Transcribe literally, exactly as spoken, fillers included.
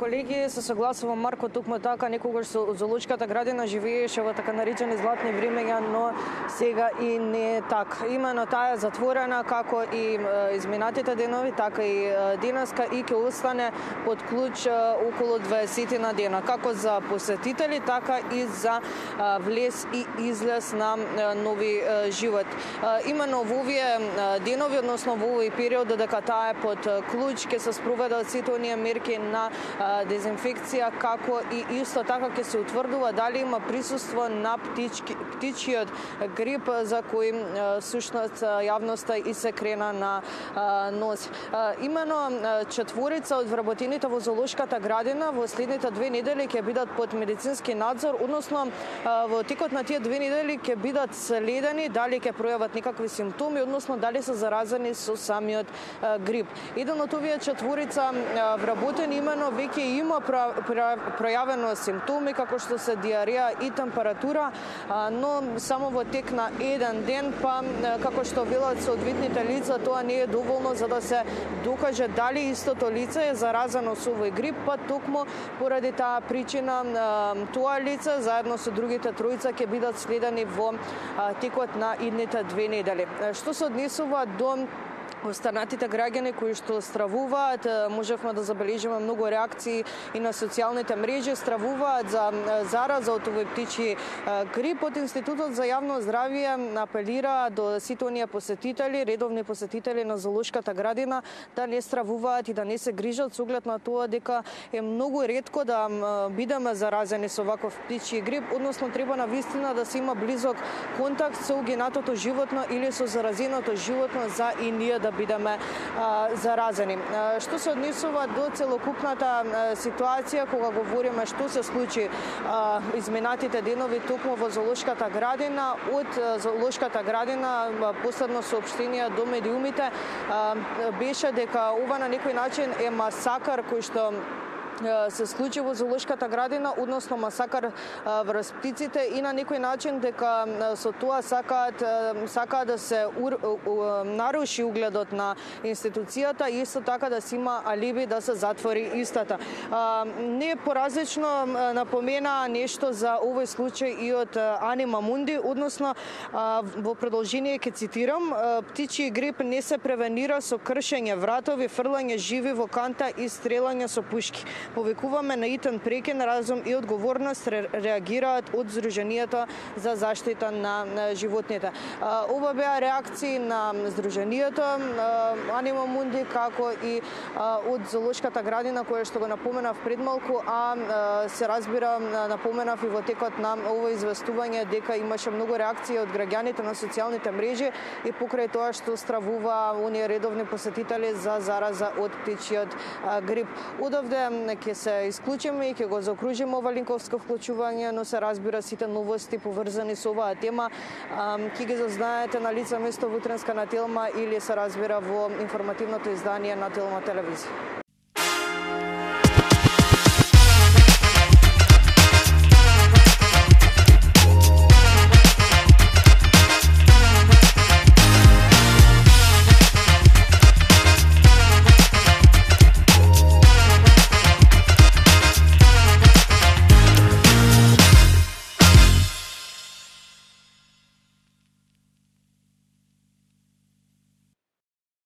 колеги, се согласувам Марко токму така, некогаш со зоолошката градина живееше во така наречени златни времења, но сега и не е така. Имено таа е затворена како и изминатите денови, така и денеска и ќе остане под клуч околу дваесет на дена, како за посетители, така и за влез и излез на нови живот. Имено во овие денови, односно во овој период, додека таа е под клуч, ќе се спроведат сите оние мерки на дезинфекција, како и исто така ќе се утврдува дали има присуство на птички, птичиот грип за кој сушност јавноста и се крена на нос. Имено четворица од вработените во зоолошката градина во следните две недели ќе бидат под медицински надзор, односно во текот на тие две недели ќе бидат следени дали ќе пројават некакви симптоми, односно дали се заразени со самиот грип. Еден од овие четворица вработени имено веќе има пројавено симптоми како што се диареја и температура, но само во тек на еден ден, па како што велат соодветните лица, тоа не е доволно за да се докаже дали истото лице е заразено со овој грип, па токму поради таа причина тоа лице заедно со другите тројца ќе бидат следени во текот на идните две недели. Што се однесува до останатите граѓани кои што стравуваат, можевме да забележиме многу реакции и на социјалните мрежи, стравуваат за зараза од овој птичји грип. Од Институтот за јавно здравје апелира до сите оние посетители, редовни посетители на зоолошката градина, да не стравуваат и да не се грижат со оглед на тоа дека е многу ретко да бидеме заразени со ваков птичји грип, односно треба навистина да се има близок контакт со угинатото животно или со заразеното животно за и ние да бидеме а, заразени. А, што се однесува до целокупната а, ситуација, кога говориме што се случи а, изминатите денови токму во зоолошката градина, од зоолошката градина последно соопштение до медиумите а, беше дека ова на некој начин е масакар кој што се случи во зоолошката градина, односно масакар врз птиците и на некој начин дека со тоа сакаат сакаат да се ур, наруши угледот на институцијата и исто така да се има алиби да се затвори истата. Не поразлично напомена нешто за овој случај и од Анима Мунди, односно во продолжение ќе цитирам: птичји грип не се превенира со кршење вратови, фрлање живи во канта и стрелање со пушки. Повикуваме на итен прекен разум и одговорност, реагираат од Сдруженијето за заштита на животните. Ова беа реакции на Сдруженијето Анима Мунди, како и од зоолошката градина, која што го напоменав пред малку, а се разбира напоменав и во текот на ово известување дека имаше многу реакции од граѓаните на социјалните мрежи и покрај тоа што стравува оние редовни посетители за зараза од птичјиот грип. Одовде ќе се исклучиме и ќе го заокружиме ова линковско вклучување, но се разбира сите новости поврзани со оваа тема ќе ги зазнаете на лице место во утренска на Телма или се разбира во информативното издание на Телма телевизија.